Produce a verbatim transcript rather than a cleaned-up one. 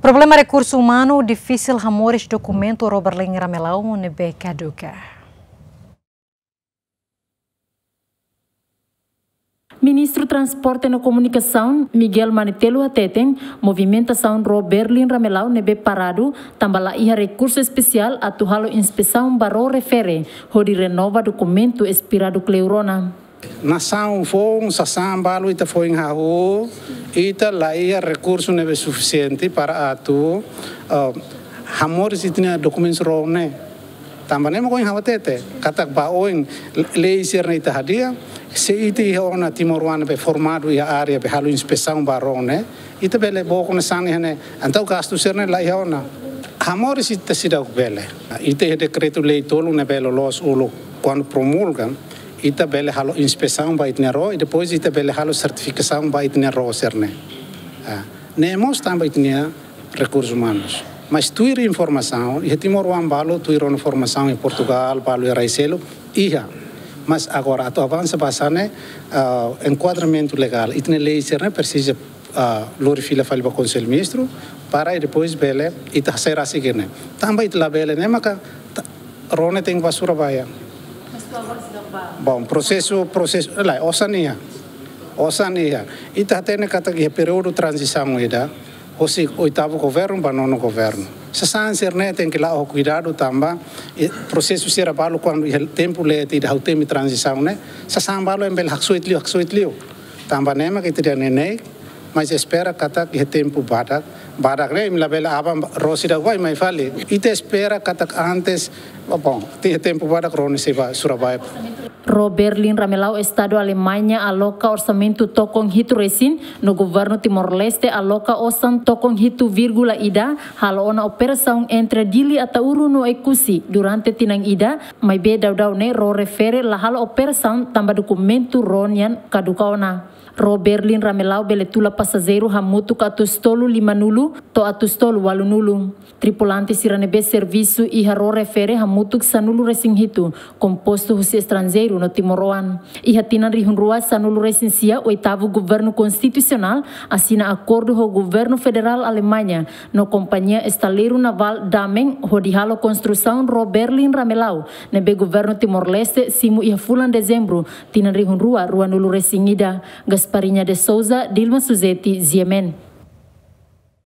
Problema rekursu umanu difisil hamoris dokumentu ró Berlin Ramelau ne'ebé kaduka. Ministru Transporte no Komunikasaun, Miguel Manetelu hateten, movimentasaun ró Berlin Ramelau ne'ebé paradu, tanba la iha rekursu espesiál atu halo inspesaun ba ró refere, hodi renova dokumentu espiradu kleur ona. Nasaun foun, sasán balu ita foin hahú, ita la iha rekursu ne'ebé sufisiente para atu, ah, hamoris ita-nia dokumentu ró ne'e. Tanba ne'e mak ohin ha'u hatete, katak ba oin lei sira-ne'e ita hadi'a, se ita iha ona timoroan be formadu iha área be halo inspesaun ba ró ne'e, ita bele book ona sasán iha ne'e, entaun gastu sira-ne'e la iha ona. Hamoris ita seidauk bele. Ita iha dekretu-lei tolu ne'ebé loloos uluk, kuandu promulga, ita bele halo inspesaun ba ita-nia ró, i depois ita bele halo sertifikasaun ba ita-nia ró sira-ne'e. Ah, ne'e mós tanba ita-nia rekursus umanus. Mas tuir informasaun, iha timoroan balu, tuir ona formasaun iha Portugal, balu iha rai seluk, iha. Mas agora, atu avansa ba sasán ne'e, ah, enkuadramentu legál, ita-nia lei sira-ne'e presiza, ah, lori fila fali ba Konsellu Ministru, para i depois bele, ita hasai rasik ne'e. Tanba ita labele ne'e, maka, ta-, ró ne'e tenke ba Surabaya. Mas tu agora seidauk ba? Bom, prosesu, prosesu, lae, osan iha. Osan iha. Ita hatene katak iha períodu tranzisaun ida, hosi oitavu governu ba nonu governu. Sasán sira-ne'e tenke la'o ho kuidadu tanba, eh, prosesu sira balu kuandu iha tempu leten ida ha'u temi tranzisaun ne'e, sasán balu ema bele haksoit liu, haksoit liu. Tanba ne'e mak ita dehan neineik, mas espera katak iha tempu badak, badak ne'e imi labele aban ró seidauk bá i mai fali. Ita espera katak antes, bom, iha tempu badak ró ne'e sei ba Surabaya. Ró Berlin Ramelau Estadu Alemaña aloka orsamentu tokon hitu resin, no Governu Timor-Leste aloka osan tokon hitu vírgula ida, halo ona operasaun entre Dili, Ataúro no Oekusi durante tinan ida, maibé daudaun ne'e ró refere la halo operasaun tanba dokumentu ró nian kaduka ona. Ró Berlin Ramelau bele tula pasajeiru hamutuk atus tolu lima-nulu to'o atus tolu ualu-nulu. Tripulante sira ne'ebé servisu iha ró refere hamutuk sanulu resin hitu, kompostu husi estranjeiru no timoroan. Iha tinan rihun rua sanulu resin sia, oitavu governu konstitusionál asina akordu ho governu federál Alemaña no kompañia estaleiru navál Damen hodi halo konstrusaun ró Berlin Ramelau, ne'ebé governu Timor-Leste simu iha fulan Dezembru, tinan rihun rua ruanulu resin ida. Gasparinha de Souza, Dilma Suzeti, G M N.